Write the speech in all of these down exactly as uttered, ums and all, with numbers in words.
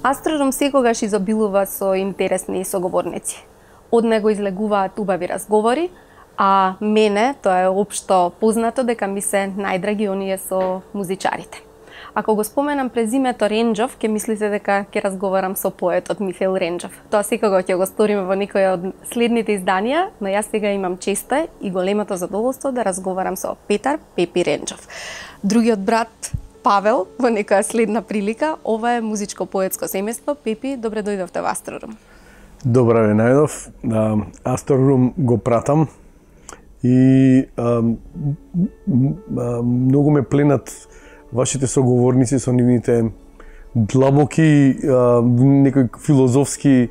Астрорум секогаш изобилува со интересни соговорници. Од него излегуваат убави разговори, а мене тоа е општо познато дека ми се најдраги оние со музичарите. Ако го споменам презимето Ренџов, ќе мислите дека ќе разговарам со поетот Михаил Ренџов. Тоа секако ќе го сториме во некој од следните изданија, но јас сега имам честа и големото задоволство да разговарам со Петар Пепи Ренџов. Другиот брат Павел во некоја следна прилика. Ова е музичко-поетско семејство. Пепи, добре дојдовте во Астрорум. Добре ве најдов. Астрорум го пратам и а, а, многу ме пленат вашите соговорници со нивните длабоки, а, некои филозофски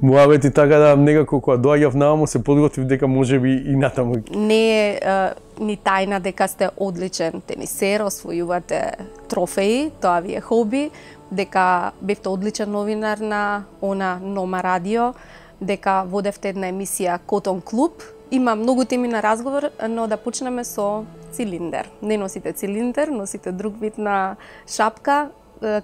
муавети, така да некако кога доаѓав наваму се подготвив дека можеби и натаму. Не е а, ни тајна дека сте одличен тенисер, освојувате трофеи, тоа ви е хоби, дека бевте одличен новинар на она Нома радио, дека водевте една емисија Котон клуб. Има многу теми на разговор, но да почнеме со цилиндер. Не носите цилиндер, носите друг вид на шапка.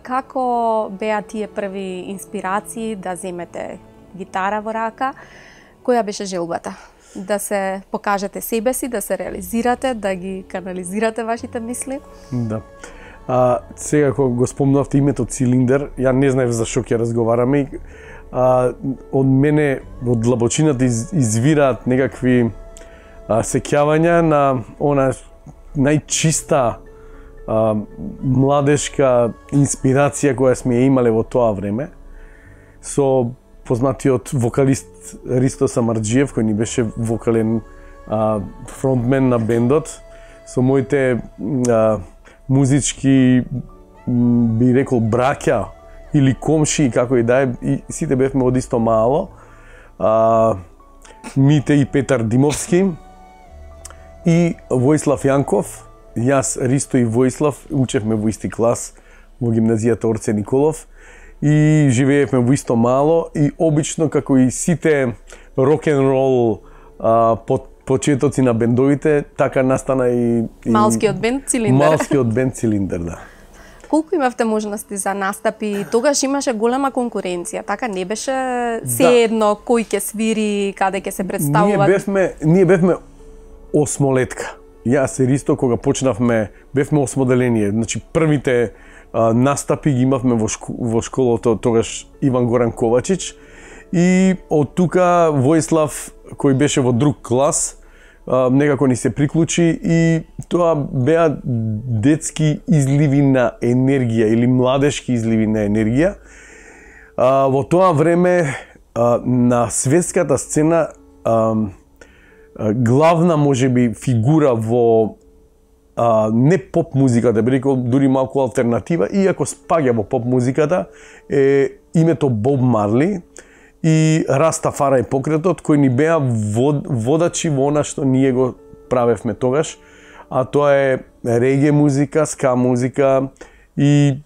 Како беа тие први инспирации да земете гитара во рака? Која беше желбата? Да се покажете себе си, да се реализирате, да ги канализирате вашите мисли? Да. А, сега кога го спомнавте името цилиндер, ја не знаев за што ќе разговараме. А, од мене, од длабочината из, извираат некакви а, сеќавања на она најчиста а, младешка инспирација која сме ја имале во тоа време, со познатиот вокалист Ристо Самарџиев, кој ни беше вокален а, фронтмен на бендот, со моите а, музички, би рекол, браќа или комши, како и да е, и сите бевме од исто мало. А, Мите и Петар Димовски и Војслав Јанков. Јас, Ристо и Војслав учевме во исти клас во гимназијата Орце Николов и живеевме во исто мало и обично, како и сите рок-н-рол под почетоци на бендовите, така настана и, и Малскиот бенд Цилиндер. Малскиот бенд Цилиндер, да. Колку имавте можности за настапи? Тогаш имаше голема конкуренција, така не беше се да. едно кој ќе свири, каде ќе се представува. Ние бевме, ние бевме осмолетка. Јас и Ристо кога почнавме бевме осмоделение. Значи првите а, настапи ги имавме во, шко, во школото тогаш Иван Горан Ковачич и од тука Војслав кој беше во друг клас некако ни се приклучи и тоа беа детски изливи на енергија или младешки изливи на енергија. А, во тоа време а, на светската сцена а, а, главна можеби фигура во а, не поп музиката, би рекол дури малку алтернатива, иако спаѓа во поп музиката, е името Боб Марли и Растафарај покретот, кои ни беа вод, водачи во она што ние го правевме тогаш, а тоа е реге музика, ска музика и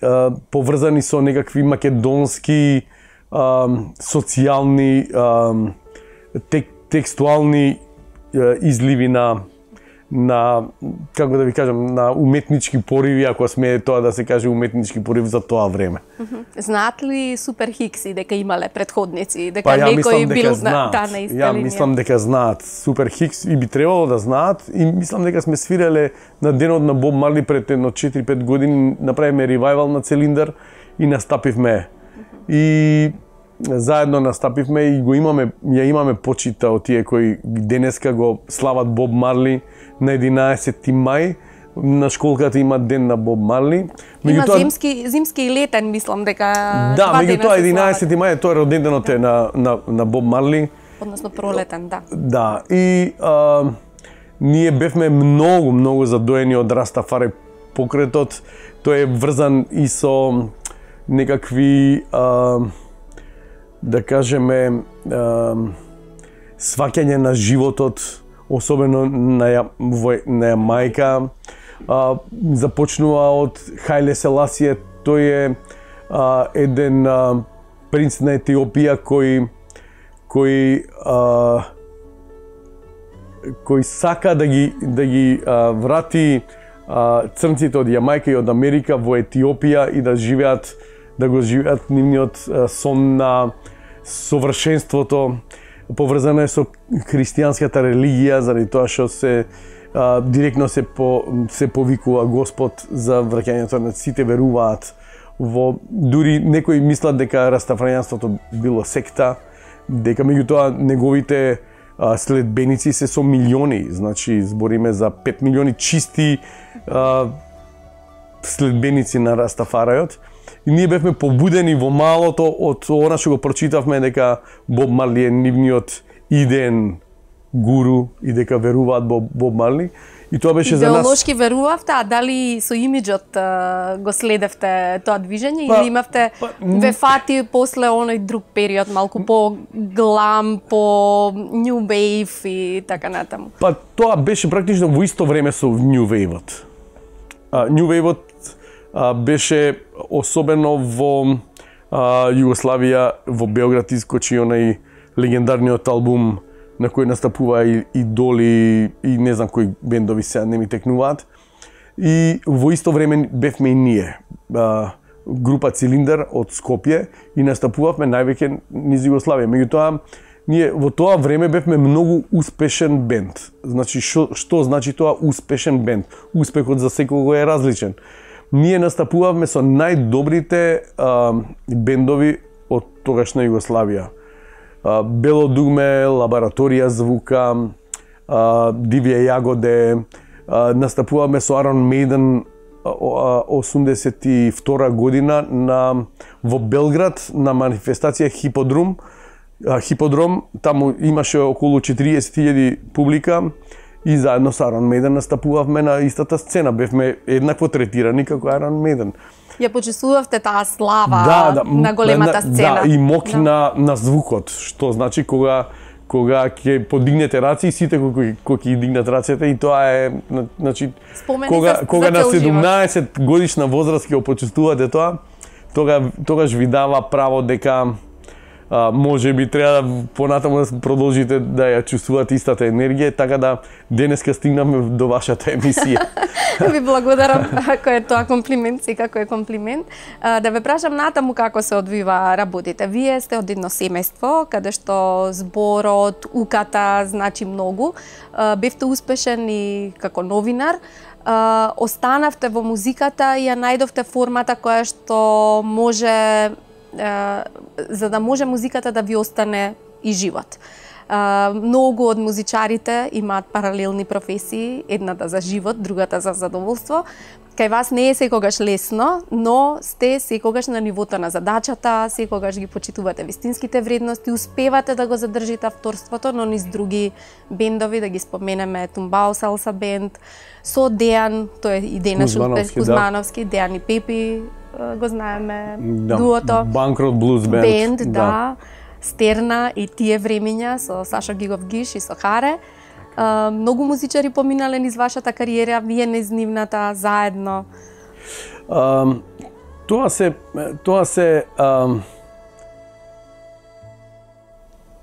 а, поврзани со некакви македонски а, социјални а, тек, текстуални а, изливи на на, како да ви кажам, на уметнички пориви, ако сме тоа да се каже уметнички порив за тоа време. Знаат ли Супер Хикси дека имале предходници, дека па, некој бил на та на иста ја линија? мислам дека знаат. Супер Хикс и би требало да знаат и мислам дека сме свиреле на денот на Боб Марли пред едно четири-пет години, направиме ревајвал на Цилиндер и настапивме. И заедно настапивме и го имаме, ја имаме почита од тие кои денеска го слават Боб Марли на единаесети мај. На школката има ден на Боб Марли. Има тоа... зимски, зимски и летен, мислам дека да, меѓутоа единаесети мај тоа е роденденот е на, на, на Боб Марли. Односно пролетен, да. Да, и а, ние бевме многу, многу задоени од Растафарај покретот. Тој е врзан и со некакви а, да кажеме а, сваќање на животот, особено на ја, на Јамајка. А, започнува од Хајле Селасије, тој е а, еден а, принц на Етиопија кој кој а, кој сака да ги да ги а, врати а, црнците од Јамајка и од Америка во Етиопија и да живеат да го живеат нивниот сон на совршенството, поврзано е со христијанската религија, заради тоа што се а, директно се по, се повикува Господ за враќањето на сите веруваат во, дури некои мислат дека растафаријанството било секта, дека меѓутоа неговите а, следбеници се со милиони, значи збориме за пет милиони чисти а, следбеници на Растафарајот. И ние бевме побудени во малото од она што го прочитавме дека Боб Марли е нивниот идеен гуру и дека веруваат во Боб Марли. И тоа беше за нас... Идеолошки верувавте, а дали со имиджот а, го следевте тоа движење, па, или имавте па, ве фати после оној друг период, малку по глам, по New Wave и така натаму? Па тоа беше практично во исто време со New Wave-от. Uh, New Wave-от uh, беше особено во uh, Југославија, во Београд искочи онај легендарниот албум на кој настапува и Идоли и не знам кои бендови се не ми текнуваат. И во исто време бевме и ние, uh, група Цилиндер од Скопје, и настапувавме највеќе низ Југославија. Меѓутоа, ние во тоа време бевме многу успешен бенд. Значи, шо, што значи тоа успешен бенд? Успехот за секого е различен. Ние настапувавме со најдобрите а, бендови од тогашна Југославија. А, Бело дугме, Лабораторија звука, а, Дивија јагоде, а, настапувавме со Iron Maiden осумдесет и втора година на, во Белград на манифестација Хиподром. Хиподром, таму имаше околу четириесет илјади публика и заедно со Iron Maiden настапувавме на истата сцена. Бевме еднакво третирани како Iron Maiden. Ја почувствувавте таа слава да, да, на големата сцена. Да, и мок да. на, на звукот, што значи кога кога ќе подигнете раци и сите кои кои ќе дигнат рацете, и тоа е значи Спомени кога за, кога за на седумнаесет живот. годишна возраст ќе почувствувате тоа, тога тогаш ви дава право дека а, може би треба да понатаму да продолжите да ја чувствувате истата енергија, така да денеска стигнаме до вашата емисија. Ви благодарам ако е тоа комплимент, и како е комплимент. А, да ве прашам натаму како се одвива работите. Вие сте од едно семејство каде што зборот, уката значи многу. А, бевте успешен и како новинар. Uh, останавте во музиката и ја најдовте формата која што може, uh, за да може музиката да ви остане и живот. Uh, многу од музичарите имаат паралелни професии, едната за живот, другата за задоволство. Кај вас не е секогаш лесно, но сте секогаш на нивото на задачата, секогаш ги почитувате вистинските вредности, успевате да го задржите авторството, но низ други бендови, да ги споменеме Тумбао Салса бенд, со Дејан, тој е и денеш Кузмановски, да. Дејан и Пепи, го знаеме, да, дуото. Банкрот Блуз бенд. Бенд, да. да. Стерна и тие времиња со Сашо Гигов Гиш и со Харе. Uh, многу музичари поминале низ вашата кариера, вие низ нивната заедно. Um, тоа се тоа се um,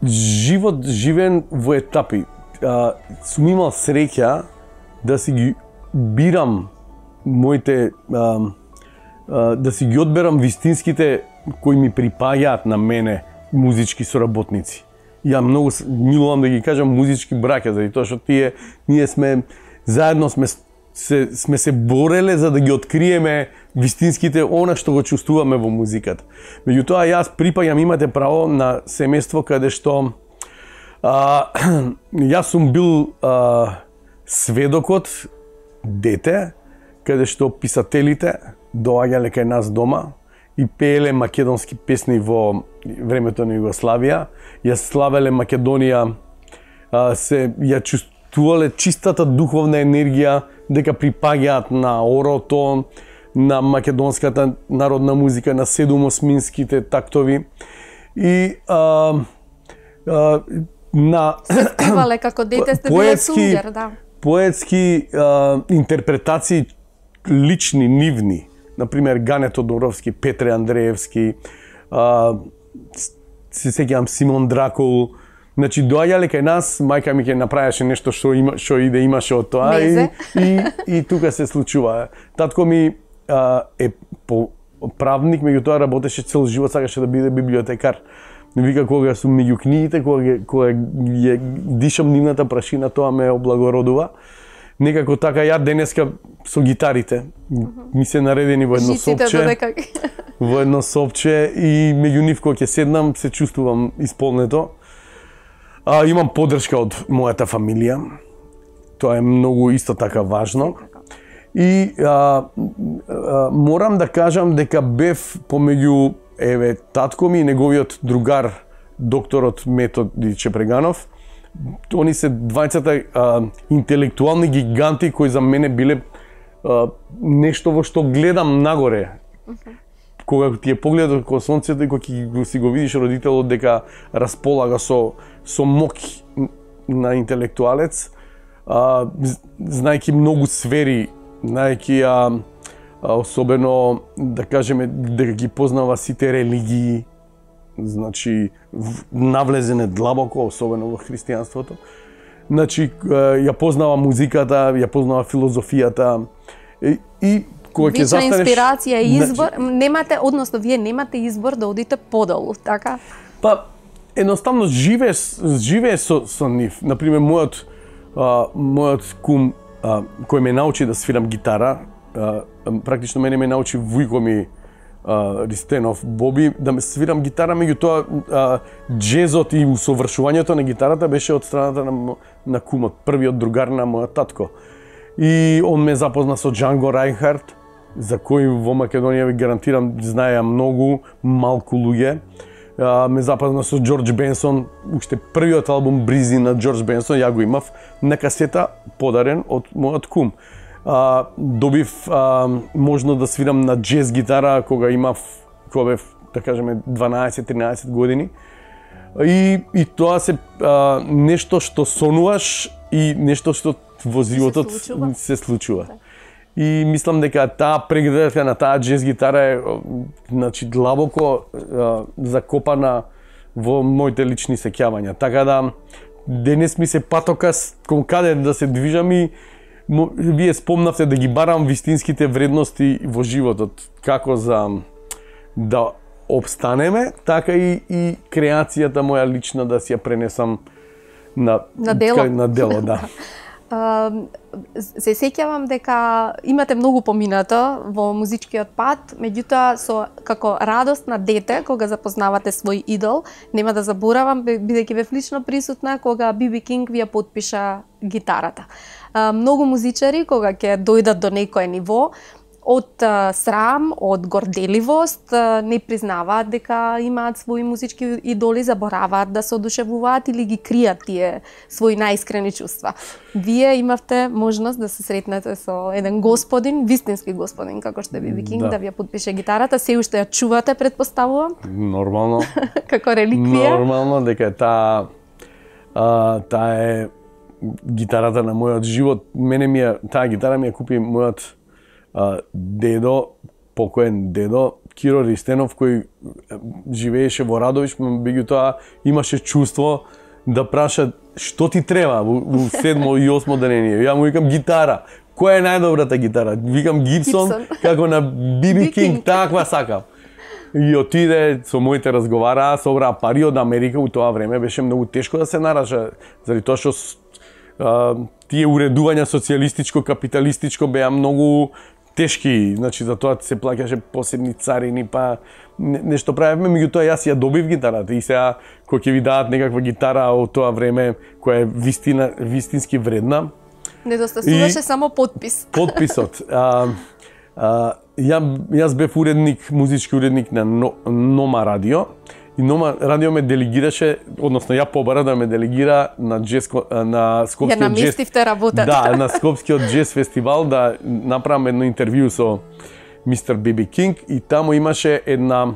живот живен во етапи. Uh, сум имал среќа да си ги бирам моите um, uh, да си ги одберам вистинските кои ми припаѓаат на мене музички соработници. Ја многу милувам да ги кажам музички браќа, заради тоа што тие ние сме заедно сме се сме се бореле за да ги откриеме вистинските она што го чувствуваме во музиката. Меѓутоа јас припаѓам, имате право, на семејство каде што а, јас сум бил а, сведокот дете каде што писателите доаѓале кај нас дома и пееле македонски песни во времето на Југославија, ја славеле Македонија, се ја чувствувале чистата духовна енергија дека припаѓаат на орото, на македонската народна музика, на седумосминските тактови и а, а, на се спевале како дете сте биле сунгер, да. Поетски а, интерпретации лични, нивни. Например, Гане Тодоровски, Петре Андреевски, а, се сеќавам Симон Дракул. Значи, доаѓале кај нас, мајка ми ќе направеше нешто што има, што и да имаше од тоа и, и, и тука се случува. Татко ми а, е по правник, меѓутоа работеше цел живот, сакаше да биде библиотекар. Вика, кога сум меѓу книгите, кога, кога ја дишам нивната прашина, тоа ме облагородува. Некако така ја денеска со гитарите ми се наредени во едно сопче. Во едно сопче и меѓу нив кога ќе седнам се чувствувам исполнето. А, имам поддршка од мојата фамилија. Тоа е многу исто така важно. И а, а, морам да кажам дека бев помеѓу еве татко ми и неговиот другар докторот Методи Чепреганов. Они се двајцата а, интелектуални гиганти кои за мене биле а, нешто во што гледам нагоре. Okay. Кога ти е погледот кон сонцето и кога ќе си го видиш родителот дека располага со со моќ на интелектуалец, а, знаејќи многу сфери, знаејќи а, а, особено да кажеме дека ги познава сите религии, значи навлезене длабоко, особено во христијанството. Значи ја познава музиката, ја познава филозофијата и, и кога ќе застанеш инспирација и избор, значи, немате, односно вие немате избор да одите подолу, така? Па едноставно живееш живееш со со нив. Например, мојот а, мојот кум а, кој ме научи да свирам гитара, а, практично мене ме научи вујко ми Uh, Ристенов Боби да ме свирам гитара, меѓутоа uh, джезот и усовршувањето на гитарата беше од страната на, на кумот, првиот другар на мојот татко. И он ме запозна со Джанго Рајнхард, за кој во Македонија ви гарантирам знаеа многу малку луѓе. Uh, ме запозна со Џорџ Бенсон, уште првиот албум Бризи на Џорџ Бенсон, ја го имав на касета подарен од мојот кум. Uh, добив uh, можно да свирам на джез гитара кога имав, кога бев, да кажеме, дванаесет-тринаесет години. И, и тоа се uh, нешто што сонуваш и нешто што во животот се случува. Се случува. И мислам дека таа преградка на таа джез гитара е значи длабоко uh, закопана во моите лични сеќавања. Така да денес ми се патокас кон каде да се движам и вие спомнавте да ги барам вистинските вредности во животот, како за да обстанеме, така и, и креацијата моја лична да си ја пренесам на, на дело. На дело, да. Uh, се сеќавам дека имате многу поминато во музичкиот пат, меѓутоа со како радостна дете кога запознавате свој идол, нема да заборавам бидејќи бев лично присутна кога Би Би Кинг ви ја потпиша гитарата. Uh, многу музичари кога ќе дојдат до некое ниво, од uh, срам, од горделивост, uh, не признаваат дека имаат своји музички идоли, забораваат да се одушевуваат или ги кријат тие своји најискрени чувства. Вие имавте можност да се сретнете со еден господин, вистински господин, како што е Би Би Кинг, да, да ви ја потпише гитарата, се уште ја чувате, предпоставувам? Нормално. Како реликвија? Нормално, дека таа таа е гитарата на мојот живот. Мене ми ја, таа гитара ми ја купи мојот Uh, дедо, покоен дедо, Киро Ристенов, кој живееше во Радовиш, меѓутоа имаше чувство да праша што ти треба во седмо и осмо денение. Ја му викам гитара. Која е најдобрата гитара? Викам Гибсон, Gibson. Како на Би Би Кинг, таква сакам. И отиде со моите разговараа, собраа пари од Америка, у тоа време беше многу тешко да се нараша, заради тоа што uh, тие уредувања социјалистичко, капиталистичко беа многу тешки, значи за тоа се плаќаше посебни царини, па нешто правевме, меѓутоа јас ја добив гитарата и сега кога ќе ви дадат некаква гитара од тоа време која е вистина, вистински вредна. Недостасуваше само подпис. Подписот. А, а, ја, јас бев уредник, музички уредник на Нома радио и Нома радио ме делегираше, односно ја побара да ме делегира на джез, на Скопскиот ја наместивте джез, работата. Да, на Скопскиот джез фестивал да направам едно интервју со мистер Би Би Кинг и таму имаше една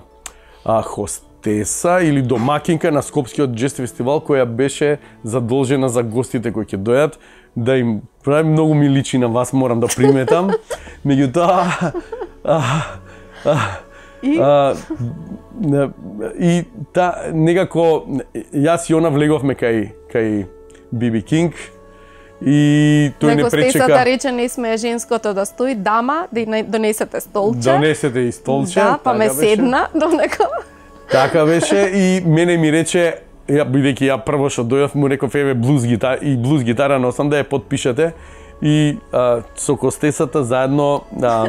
а, хостеса или домакинка на Скопскиот джез фестивал која беше задолжена за гостите кои ќе дојат да им прави многу ми личи на вас, морам да приметам. Меѓутоа И? А, и та некако јас и она влеговме кај кај Би Би Кинг и тој не пречека. Него рече не сме женското да стои, дама, да донесете столче. Донесете и столче. Да, па ме седна до него. Така беше и мене ми рече, ја бидејќи ја прво што дојдов му реков еве блуз гитара и блуз гитара носам да ја подпишете и а, со Костесата заедно а,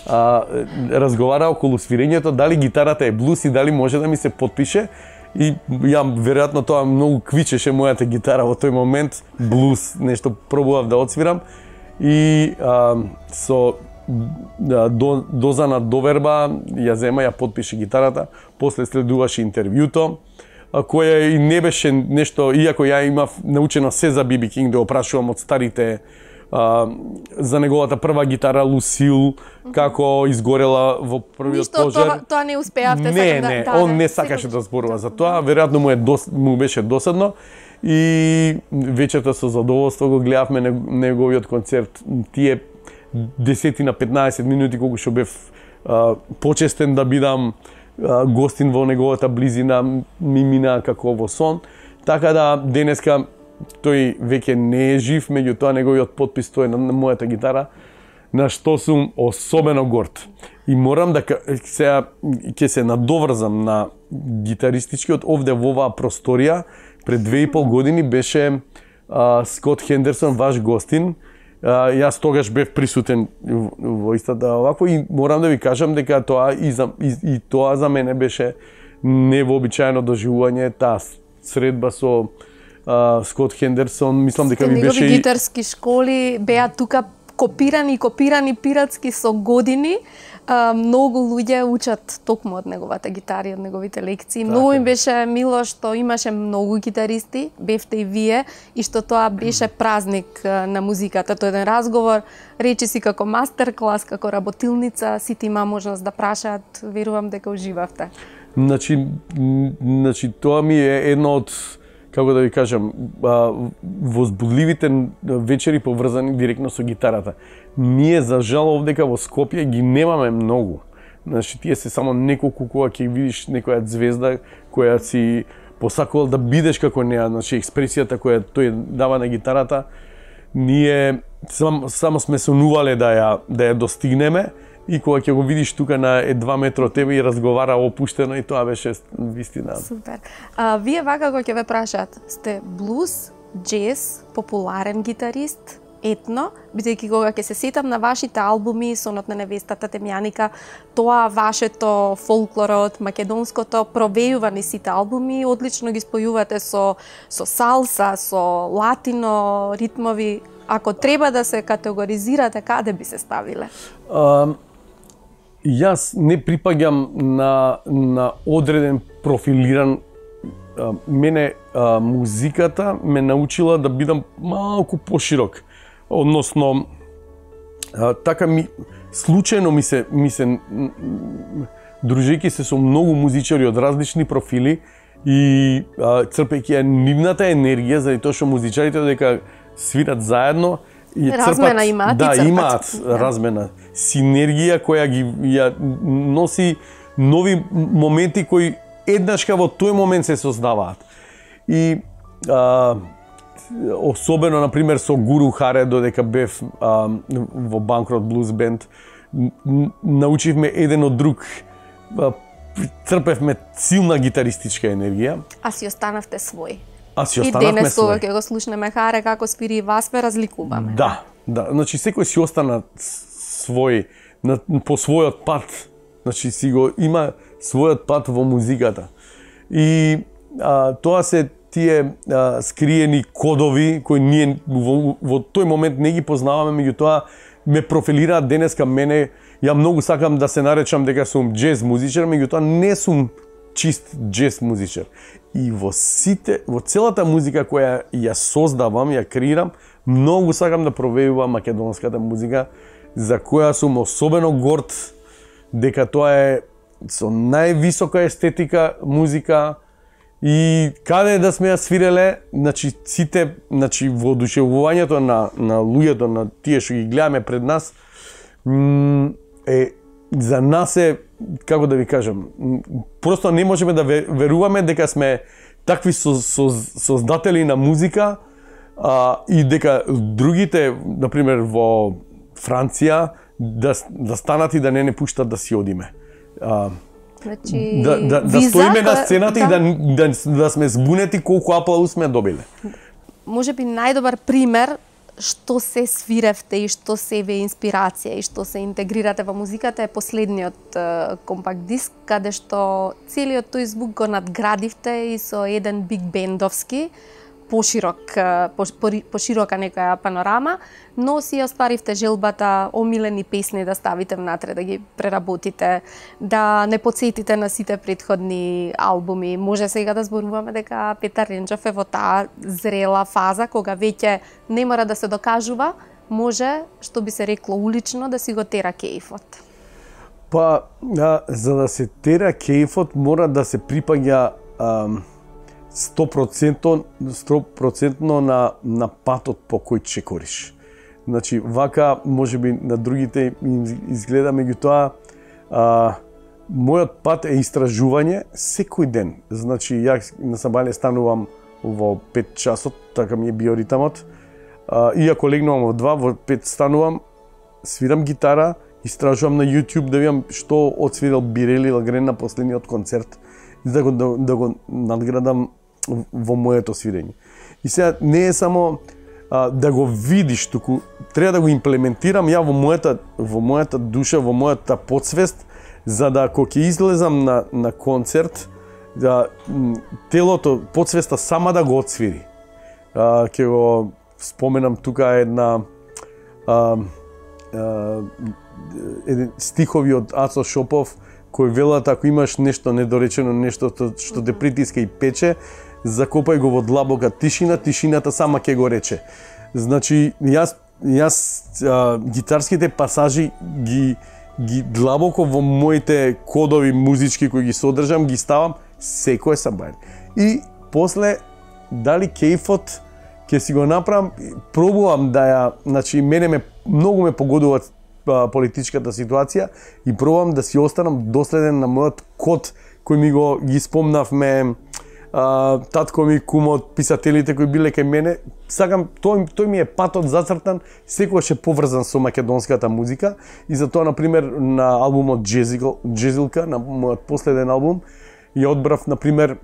а, разговара околу свирењето дали гитарата е блуз и дали може да ми се подпише. И ја веројатно тоа многу квичеше мојата гитара во тој момент, блуз, нешто пробував да отсвирам и а, со да, до, доза на доверба ја зема, ја подпише гитарата, после следуваше интервјуто, која и не беше нешто, иако ја имав научено се за Би Би Кинг, да опрашувам од старите а, за неговата прва гитара Лусил, како изгорела во првиот Ништо, пожар. Това, тоа не успеавте, не, сакам не, да... Да, он не сакаше да зборува за тоа, веројатно му, е дос, му беше досадно и вечерта со задоволство го гледавме неговиот концерт. Тие десет на петнаесет минути колку што бев а, почестен да бидам а, гостин во неговата близина, ми мина како во сон. Така да денеска тој веќе не е жив, меѓутоа неговиот подпис тој на, на мојата гитара, на што сум особено горд. И морам да сега ќе се надоврзам на гитаристичкиот овде во оваа просторија. Пред две и пол години беше а, Скот Хендерсон ваш гостин. А, јас тогаш бев присутен во истата овако и морам да ви кажам дека тоа и, за, и, и тоа за мене беше невообичаено доживување, таа средба со а, Скот Хендерсон. Мислам дека ви беше негови гитарски школи беа тука копирани, копирани пиратски со години. А, многу луѓе учат токму од неговата гитара и од неговите лекции. Така. Многу им беше мило што имаше многу гитаристи, бевте и вие, и што тоа беше празник на музиката. Тоа е еден разговор, речи си како мастер-клас, како работилница, сите има можност да прашаат, верувам дека уживавте. Значи, значи тоа ми е едно од, како да ви кажам, возбудливите вечери поврзани директно со гитарата. Ние, за жал, овдека во Скопје ги немаме многу. Значи, тие се само неколку кога ќе видиш некоја звезда која си посакувал да бидеш како неа, значи експресијата која тој дава на гитарата, ние само, само сме сонувале да ја да ја достигнеме и кога ќе го видиш тука на е два метра од тебе и разговара опуштено, и тоа беше вистина. Супер. А, вие вака кога ќе ве прашаат, сте блуз, джез, популарен гитарист, етно, бидејќи кога ќе се сетам на вашите албуми, Сонот на невестата, Темјаника, тоа вашето фолклорот, македонското провејува низ сите албуми, одлично ги спојувате со со салса, со латино ритмови. Ако треба да се категоризирате, каде би се ставиле? А, јас не припаѓам на на одреден профилиран. А, мене а, музиката ме научила да бидам малку поширок. Односно, а, така ми случајно ми се ми се дружејќи се со многу музичари од различни профили и а, црпејќи ја нивната енергија, заради тоа што музичарите дека свират заедно и размена црпат, имаат, да, и црпат. имаат размена, синергија која ги ја носи нови моменти кои еднашка во тој момент се создаваат. И а, особено, например, со Гуру Харе, додека бев а, во Банкрот Блуз Бенд, научивме еден од друг, а, црпевме силна гитаристичка енергија. А си останавте свој. А си и останавме денес кога свој. ќе го слушнеме Харе како свири вас, ве разликуваме. Да, да, значи секој си остана свој, на, по својот пат, значи си го има својот пат во музиката. И а, тоа се тие а, скриени кодови кои ние во, во тој момент не ги познаваме, меѓутоа ме профилираат денеска мене. Ја многу сакам да се наречам дека сум джез музичар, меѓутоа не сум чист джез музичар. И во сите, во целата музика која ја создавам, ја креирам, многу сакам да провејувам македонската музика, за која сум особено горд дека тоа е со највисока естетика музика и каде да сме ја свиреле, значи сите, значи воодушевувањето на на луѓето, на тие што ги гледаме пред нас, е за нас е, како да ви кажам, просто не можеме да веруваме дека сме такви со, со, создатели на музика, а, и дека другите, например во Франција, да, да станат и да не не пуштат да си одиме. А, Значи, да, да, да виза, стоиме на сцената да, и да, да, да сме збунети колку аплауз сме добиле. Може би најдобар пример што се свиревте и што се ве инспирација и што се интегрирате во музиката е последниот uh, компакт диск, каде што целиот тој звук го надградивте и со еден биг бендовски, поширок, по, по, поширока некоја панорама, но си остваривте желбата омилени песни да ставите внатре, да ги преработите, да не подсетите на сите претходни албуми. Може сега да зборуваме дека Петар Ренџов е во таа зрела фаза, кога веќе не мора да се докажува, може, што би се рекло улично, да си го тера кејфот. Па, а, за да се тера кејфот, мора да се припаѓа ам, сто проценти на, на патот по кој чекориш. Значи, вака, може би на другите им изгледа, меѓутоа, а, мојот пат е истражување секој ден. Значи, ја на сабање станувам во пет часот, така ми е биоритамот. А, иако легнувам во два, во пет станувам, свирам гитара, истражувам на YouTube да видам што одсвирил Бирели Лагрен на последниот концерт, да го, да, да го надградам во моето свирење. И сега не е само а, да го видиш, туку треба да го имплементирам ја во мојата во мојата душа, во мојата подсвест, за да кога ќе излезам на на концерт, да телото, подсвеста сама да го отсвири. А, ќе го споменам тука една а, а, еден стихови од Ацо Шопов кој велат ако имаш нешто недоречено, нешто што те притиска и пече, закопај го во длабока тишина, тишината сама ќе го рече. Значи, јас, јас а, гитарските пасажи ги, ги длабоко во моите кодови музички кои ги содржам, ги ставам секој сабајн. И после, дали кејфот ќе си го направам, пробувам да ја, значи, мене ме, многу ме погодува а, политичката ситуација и пробувам да си останам доследен на мојот код кој ми го ги спомнавме, Uh, татко ми, кумот, писателите кои биле кај мене, сакам, тој, тој ми е патот зацртан, секогаш е поврзан со македонската музика и затоа, например, на албумот Джезилка, на мојот последен албум, ја одбрав, например,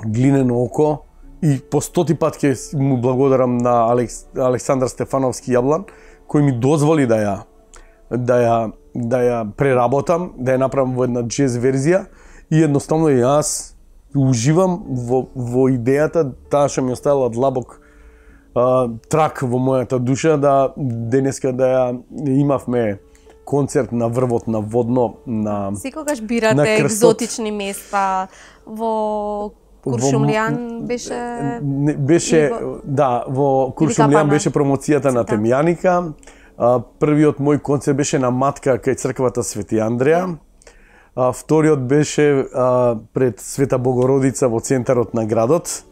Глинено око и по стоти пат ќе му благодарам на Алекс, Александар Стефановски Јаблан, кој ми дозволи да ја, да ја, да ја преработам, да ја направам во една джез верзија и едноставно јас уживам во, во идејата, таа што ми оставила длабок а, трак во мојата душа, да денеска да ја имавме концерт на врвот на Водно, на секогаш бирате на екзотични места во Куршумлијан беше не, беше во... да, во Куршумлијан беше промоцијата на Темјаника. А, првиот мој концерт беше на Матка кај црквата Свети Андреја. А, вториот беше а, пред Света Богородица во центарот на градот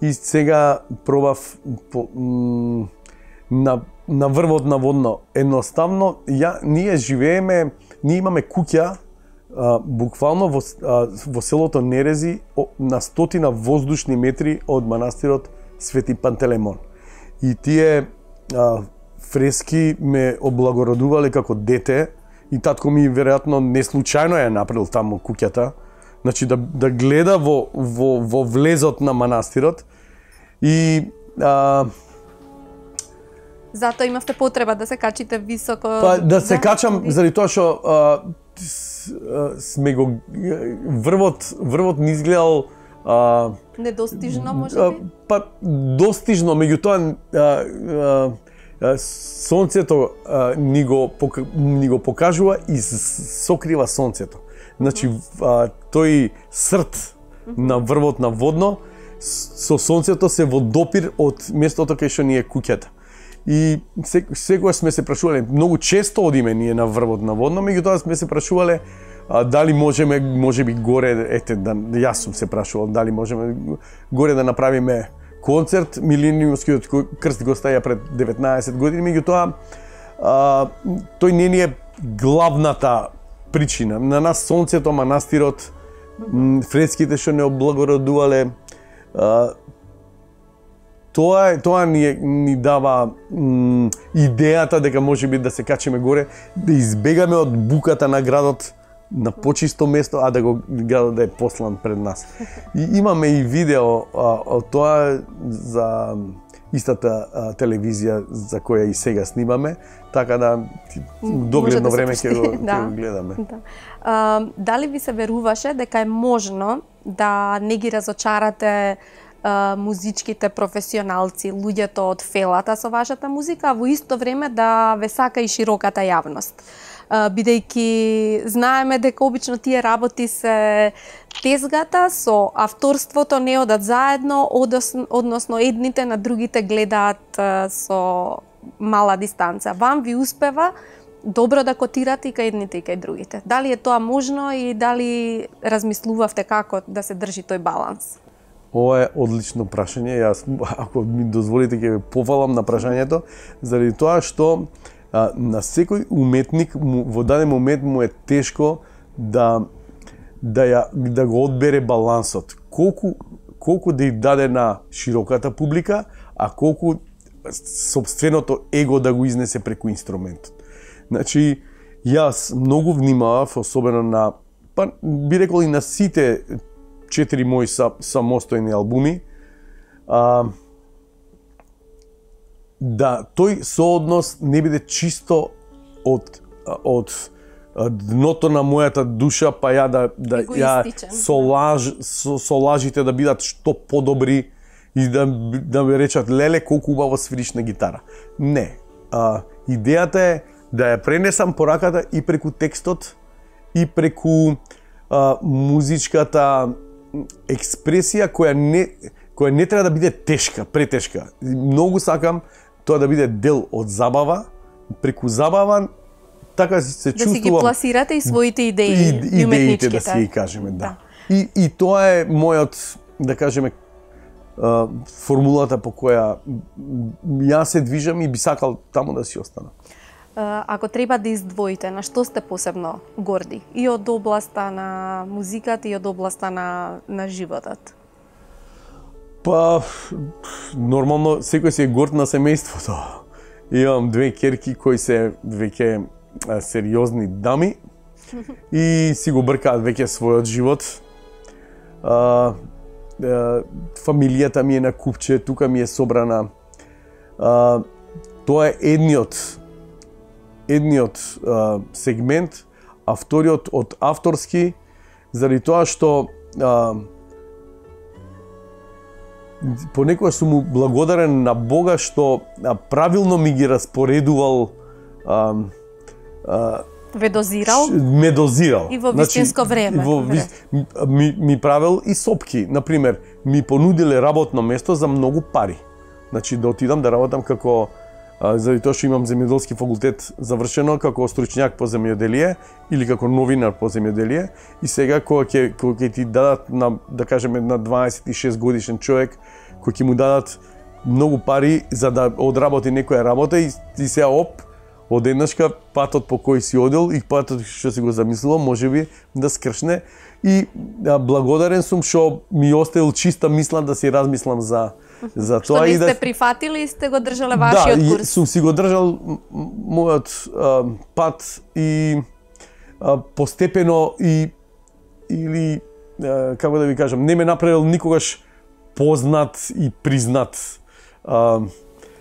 и сега пробав по, на, на врвот на Водно. Едноставно, ја, ние живееме, ние имаме куќа а, буквално во, а, во селото Нерези на стотина воздушни метри од манастирот Свети Пантелеймон. И тие а, фрески ме облагородувале како дете. И татко ми веројатно не случајно е направил таму куќата. Значи да, да гледа во, во, во влезот на манастирот. И а... затоа имавте потреба да се качите високо. Па да се да, качам ви... заради тоа што а, сме го врвот врвот ни изгледал а, недостижно можеби. Па достижно, меѓутоа а, а, сонцето а, ни, го, ни го покажува и сокрива сонцето. Значи, а, тој срт на врвот на Водно со сонцето се во допир од местото кај што ни е куќата. И секогаш сме се прашувале, многу често одиме ние на врвот на Водно, меѓутоа сме се прашувале а, дали можеме, можеби горе, ете, да, јас сум се прашувал, дали можеме горе да направиме концерт. Милениумскиот крст го стаја пред деветнаесет години, меѓутоа тој не ни е главната причина. На нас сонцето, манастирот, фреските што не облагородувале, тоа е тоа ни, е, ни дава м, идејата дека можеби да се качиме горе, да избегаме од буката на градот на почисто место, а да го градот да е послан пред нас. И имаме и видео а, од тоа за истата а, телевизија за која и сега снимаме, така да догледно да време ќе го, да. го гледаме. Да. А, дали ви се веруваше дека е можно да не ги разочарате а, музичките професионалци, луѓето од фелата со вашата музика, а во исто време да ве сака и широката јавност? Бидејќи знаеме дека обично тие работи се тезгата со авторството, не одат заедно, односно едните на другите гледаат со мала дистанца. Вам ви успева добро да котирате и кај едните и кај другите. Дали е тоа можно и дали размислувавте како да се држи тој баланс? Ова е одлично прашање. Јас, ако ми дозволите, ќе ве пофалам на прашањето, заради тоа што а, на секој уметник му, во даден момент му е тешко да да ја да го одбере балансот. Колку колку да ја даде на широката публика, а колку собственото его да го изнесе преку инструментот. Значи, јас многу внимавав, особено на, па би рекол и на сите четири мои самостојни албуми, а, да тој сооднос не биде чисто од од дното на мојата душа, па ја да да ја со лаж со, со лажите да бидат што подобри и да да ме речат леле колку убаво свириш на гитара. Не. А, идејата е да ја пренесам пораката и преку текстот и преку а, музичката експресија која не која не треба да биде тешка, претешка. Многу сакам тоа да биде дел од забава, преку забава така се да чувствувам. Да си ги пласирате и своите идеи, и, и уметничките. Да си ги кажеме, да. да. И, и тоа е мојот, да кажеме, формулата по која јас се движам и би сакал таму да си остана. Ако треба да издвоите, на што сте посебно горди? И од областа на музиката и од областа на, на животот? Па, нормално, секој си е горд на семејството. Имам две ќерки кои се веќе сериозни дами и си го бркаат веќе својот живот. А, а, фамилијата ми е на купче, тука ми е собрана. А, тоа е едниот едниот а, сегмент, а вториот од авторски, заради тоа што а, понекогаш сум му благодарен на Бога што а, правилно ми ги распоредувал а, а, Ве дозирал? Ме дозирал. И во вистинско значи, време. Во, ви, ми, ми правил и сопки. Например, ми понудиле работно место за многу пари. Значи, да отидам да работам како, а, заради тоа што имам земјоделски факултет завршено, како стручњак по земјоделие или како новинар по земјоделие. И сега, кога ќе, кога ќе ти дадат, на, да кажеме, на дваесет и шест годишен човек, кој ќе му дадат многу пари за да одработи некоја работа и, и сега оп, одеднашка патот по кој си одел и патот што си го замислувал можеби да скршне и а, благодарен сум што ми оставил чиста мисла да си размислам за за тоа и да што не сте прифатили и сте го држале вашиот да, курс. Да, сум си го држал мојот а, пат и а, постепено и или а, како да ви кажам, не ме направил никогаш познат и признат. А,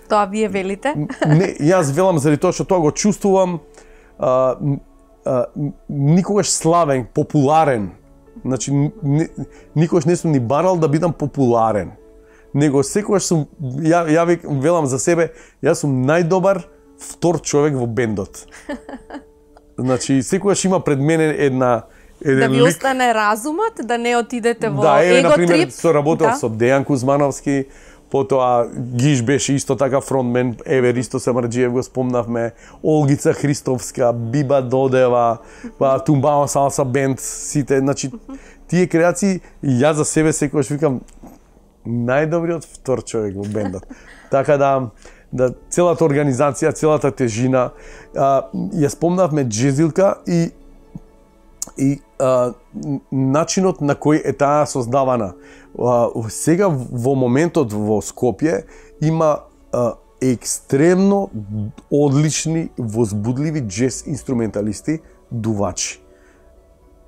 Тоа вие велите? Не, јас велам заради тоа што тоа го чувствувам а, а, никогаш славен, популарен. Значи, ни, никогаш не сум ни барал да бидам популарен. Него секогаш сум, ја, ја велам за себе, јас сум најдобар втор човек во бендот. Значи, секогаш има пред мене една еден да ви лик. остане разумот, да не отидете во да, еве, его например, трип. со работел да. со Дејан Кузмановски, потоа Гиш беше исто така фронтмен, еве Ристо Самарџиев го спомнавме, Олгица Христовска, Биба Додева, па Тумбао Салса бенд, сите, значи тие креации, јас за себе секогаш викам најдобриот втор човек во бендот. Така да да целата организација, целата тежина, а, ја спомнавме Джезилка и и а, начинот на кој е таа создавана. а, сега во моментот во Скопје има а, екстремно одлични, возбудливи џез инструменталисти, дувачи.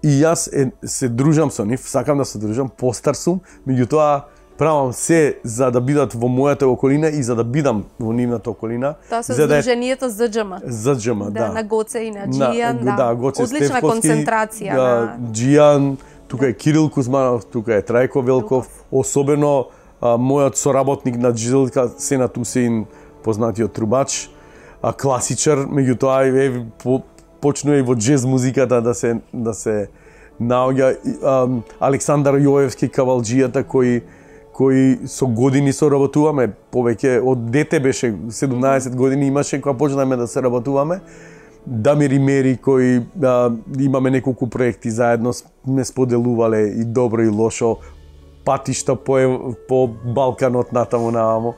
И јас е, се дружам со нив, сакам да се дружам, постар сум, меѓутоа правам се за да бидат во мојата околина и за да бидам во нивната околина. Тоа се за да здруженијето ЗДЖМ. ЗДЖМ, да. Да, на Гоце и на Џијан, на, да. да Гоце Одлична Стефковски, концентрација. Да, на... Џијан, тука е Кирил Кузманов, тука е Трајко Велков, особено а, мојот соработник на Джилка, Сенат Усеин, познатиот трубач, а, класичар, меѓутоа е по, почнува и во џез музиката да се да се наоѓа а, Александар Јоевски, кавалџијата, кој кои со години соработуваме, повеќе од дете беше седумнаесет години имаше кога почнаме да се работуваме. Дамир и Мери, кои а, имаме неколку проекти заедно, сме споделувале и добро и лошо, патишта по, по Балканот натаму наваму.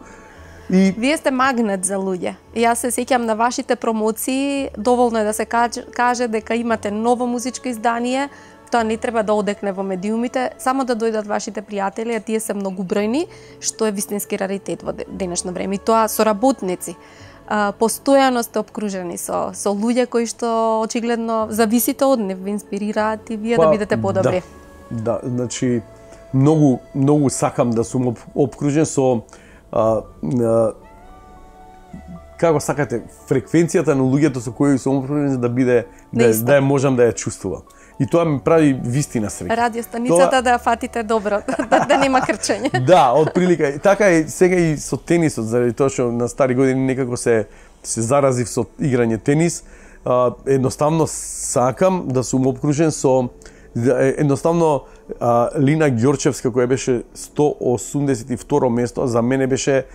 И вие сте магнет за луѓе. Јас се сеќам на вашите промоции, доволно е да се каже, каже дека имате ново музичко издание. Тоа не треба да одекне во медиумите, само да дојдат вашите пријатели, а тие се многубројни, што е вистински раритет во денешно време. И тоа соработници. А, постојано сте обкружени со со луѓе кои што очигледно зависите од нив, ви инспирираат и вие па, да бидете подобри. Да, да, значи многу многу сакам да сум об, обкружен со а, а, како сакате фреквенцијата на луѓето со кои сум обкружен да биде да, да ја можам да ја чувствувам. И тоа ми прави вистина среќа. Радиостаницата тоа... да ја фатите добро, да, да нема крчење. Да, од прилика. Така е сега и со тенисот, заради тоа што на стари години некако се се заразив со играње тенис. А, едноставно сакам да сум обкружен со едноставно а, Лина Ѓорчевска, која беше сто осумдесет и второ место, за мене беше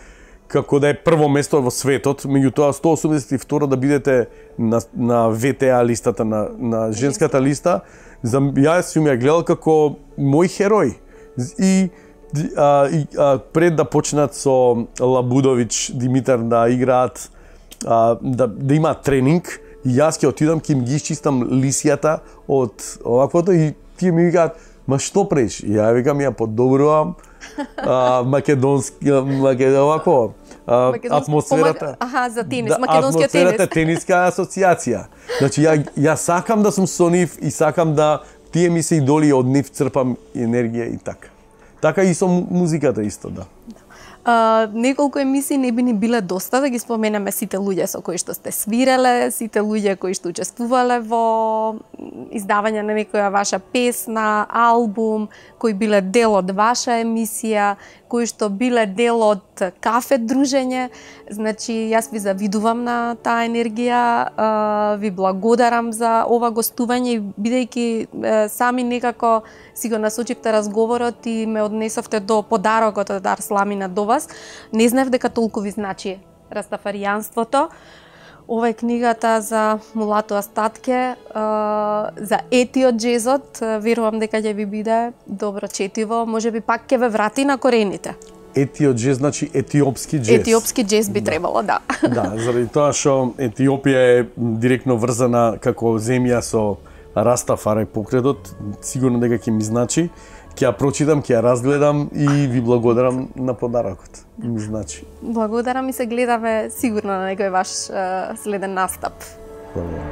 како да е прво место во светот, меѓутоа сто осумдесет и второ да бидете на, на В Т А листата, на, на женската листа, за јас сум ја гледал како мој херој. И, а, и а, пред да почнат со Лабудович, Димитар да играат, а, да, да има тренинг, и јас ќе отидам, ќе им ги исчистам лисијата од оваквото и тие ми викаат, ма што преш? И ја викам, ја подобрувам а, македонски, македон, овако, а, атмосферата. Аха, за тенис, да, македонскиот тенис. Атмосферата тениска асоциација. Значи, ја, ја сакам да сум со нив и сакам да тие ми се идоли, од нив црпам енергија и така. Така и со музиката исто, да. Uh, неколку емисии не би ни биле доста да ги споменеме сите луѓе со кои што сте свиреле, сите луѓе кои што учествувале во издавање на некоја ваша песна, албум, кои биле дел од ваша емисија, кои што биле дел од кафе дружење. Значи, јас ви завидувам на таа енергија, uh, ви благодарам за ова гостување, бидејќи сами некако си го насочивте разговорот и ме однесовте до подарокот од Арсламина до вас. Не знаев дека толку ви значи растафаријанството. Ова е книгата за Мулато Астатке, за етиот џезот. Верувам дека ќе ви биде добро четиво. Можеби пак ќе ве врати на корените. Етиот џез значи етиопски џез. Етиопски џез би да. требало, да. Да, заради тоа што Етиопија е директно врзана како земја со Растафари покредот, сигурно дека ќе ми значи. Ќе ја прочитам, ќе ја разгледам и ви благодарам на подарокот. Ми значи. Благодарам и се гледаме сигурно на некој ваш следен настап. Благодарам.